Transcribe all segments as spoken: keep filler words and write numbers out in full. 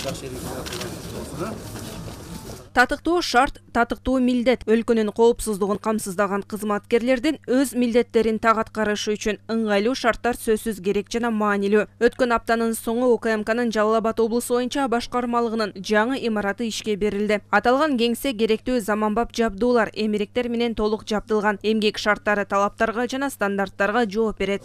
жакшы эркек. Татыктуу шарт, татыктуу милдет. Өлкөнүн коопсуздугун камсыздаган кызматкерлердин өз милдеттерин так аткарышы үчүн ыңгайлуу шарттар сөзсүз керек жана маанилүү. Өткөн аптанын соңу УКМКнын Жалал Абад облусу боюнча башкармалыгынын жаңы имараты ишке берилди. Аталган кеңсе керектүү заманбап жабдуулар, эмеректер менен толук жабдылган. Эмгек шарттары талаптарга жана стандарттарга жооп берет.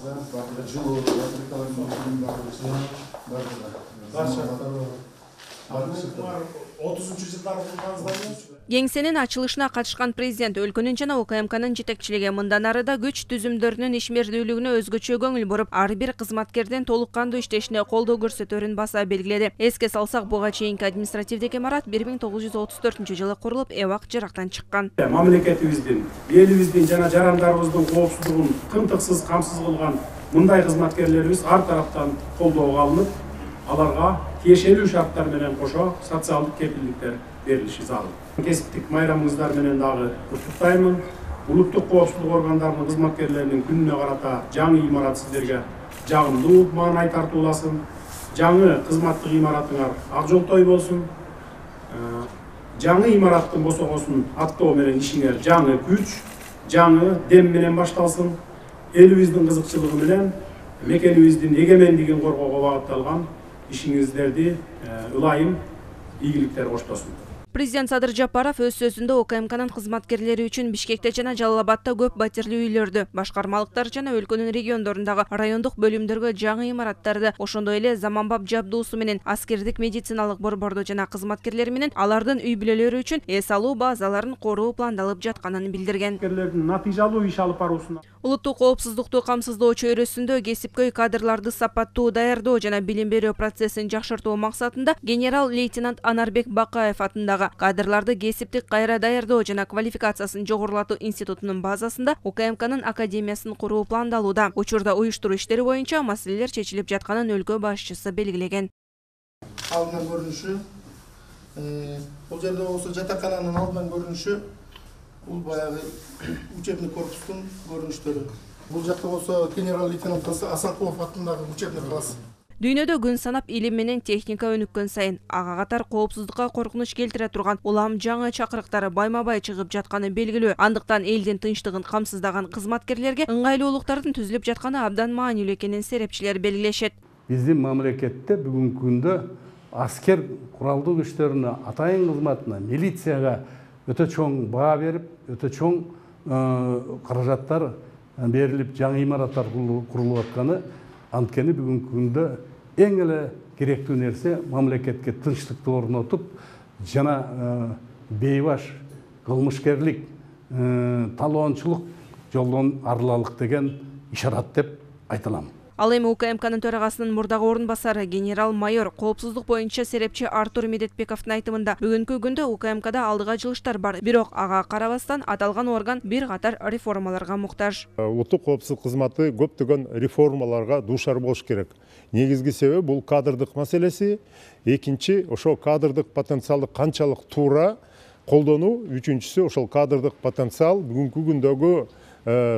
Кеңсенин ачылышына катышкан президент өлкөнүн жана УКМКнын жетекчилиги мындан ары да күч түзүмдөрүнүн ишмердүүлүгүнө өзгөчө көңүл буруп, ар бир кызматкердин толук кандуу иштешине колдоо көрсөтөрүн баса белгиледи. Эске салсак, буга чейинки административдик имарат бир миң тогуз жүз отуз төртүнчү жылы курулуп, эбак жырактан чыккан. Мамлекетибиздин, элибиздин жана жарандарыбыздын коопсуздугун тынтыксыз камсыз кылган мындай кызматкерлерибиз ар тараптан колдоого алынып, аларга тиешелүү шарттар менен кошо социалдык кепилдиктер берилиши зарыл. Кесиптик майрамыңыздар менен дагы куттуктаймын. Улуттук коопсуздук органдарынын кызматкерлеринин күнүнө карата жаңы имарат сиздерге жагымдуу маанай тартууласын. Жаңы кызматтык имаратыңар ак жолтой болсун. Жаңы имараттын босогосун аттоо менен ишиңер жаңы күч, жаңы дем менен башталсын. Элибиздин кызыкчылыгы менен мекенибиздин эгемендигин коргоого багытталган ишиңиздерди ылайым ийгиликтер коштосун. Президент Садыр Жапаров өз сөзүндө УКМКнын кызматкерлери үчүн Бишкекте жана Жалал Абадта көп батирлүү үйлөрдү, башкармалыктар жана өлкөнүн региондорундагы райондук бөлүмдөргө жаңы имараттарды, ошондой эле заманбап жабдуусу менен аскердик медициналык борборду жана кызматкерлери менен алардын үй бүлөлөрү үчүн эс алуу базаларын куруу пландалып жатканын билдирген. Натыйжалуу иш алып баруусуна Улуттук коопсуздукту камсыздоо чөйрөсүндө кесипкөй кадрларды сапаттуу даярдоо жана билим берүү процессин жакшыртуу максатында генерал-лейтенант Анарбек Бакаев атындагы кадрларды кесиптик кайра даярдоо жана квалификациясын жогорулатуу институтунун базасында УКМКнын академиясын куруу пландалууда. Учурда уюштуруу иштери боюнча маселелер чечилип жатканын өлкө башчысы белгилеген. Алдынан көрүнүшү, бул жерде болсо жатакананын алдынан көрүнүшү, бул баягы учебный корпустун көрүнүштөрү. Бул жакта болсо генерал-лейтенант Асанкулов атындагы учебный класс. Дүйнөдө күн санап илим менен техника өнүккөн сайын ага катар коопсуздукка коркунуч келтире турган улам жаңы чакырыктары байма-бай чыгып жатканы белгилүү. Андыктан элдин тынчтыгын камсыздаган кызматкерлерге ыңгайлуулуктардын түзүлүп жатканы абдан маанилүү экенин серепчилер белгилешет. Биздин мамлекетте бүгүнкү күндө аскер куралдуу күчтөрүнө, атайын кызматына, милицияга өтө чоң баа берип, өтө чоң каражаттар берилип, жаңы имараттар курулуп атканы, анткени бүгүнкү күндө эң эле керектүү нерсе мамлекетке тынчтыкты орнотуп, жана бейбаш кылмышкерлик, талоончулук жолдон арылалык деген ишарат деп айта алам. Ал эми УКМКнын төрагасынын мурдагы орун басары генерал-майор коопсуздук боюнча серепчи Артур Медетбековдун айтымында бүгүнкү күндө УКМКда алдыга жылыштар бар, бирок ага карабастан аталган орган бир катар реформаларга муктаж. Улуттук коопсуздук кызматы көптөгөн реформаларга дуушар болуш керек. Негизги себеби бул кадрдык маселеси, экинчи ошо кадрдык потенциалды канчалык туура колдонуу, үчүнчүсү ошол кадрдык потенциал бүгүнкү күндөгү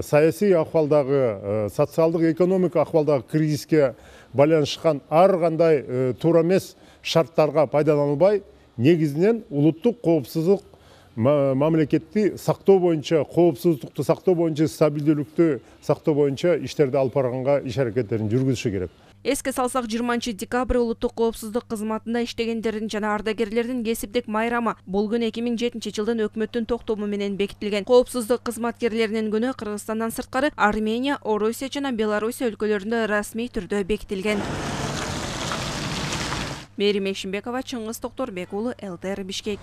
саясий акыбалдагы, социалдык экономика акыбалдагы кризиске байланышкан ар кандай туура эмес шарттарга пайдаланылбай, негизинен улуттук коопсуздук мамлекетти сактоо боюнча, коопсуздукту сактоо боюнча, стабилдүүлүктү сактоо боюнча иштерди алып барганга иш аракеттерин жүргүзүшү керек. Эске салсак, жыйырманчы декабрь улуттук коопсуздук кызматында иштегендердин жана ардагерлердин кесиптик майрамы. Бул күн эки миң жетинчи жылдын өкмөттүн токтому менен бекитилген. Коопсуздук кызматкерлеринин күнү Кыргызстандан сырткары Армения, Орусия жана Белоруссия өлкөлөрүндө расмий түрдө бекитилген. Мээрим Экшимбекова, Чыңгыз Токторбек уулу, эл тэ эр Бишкек.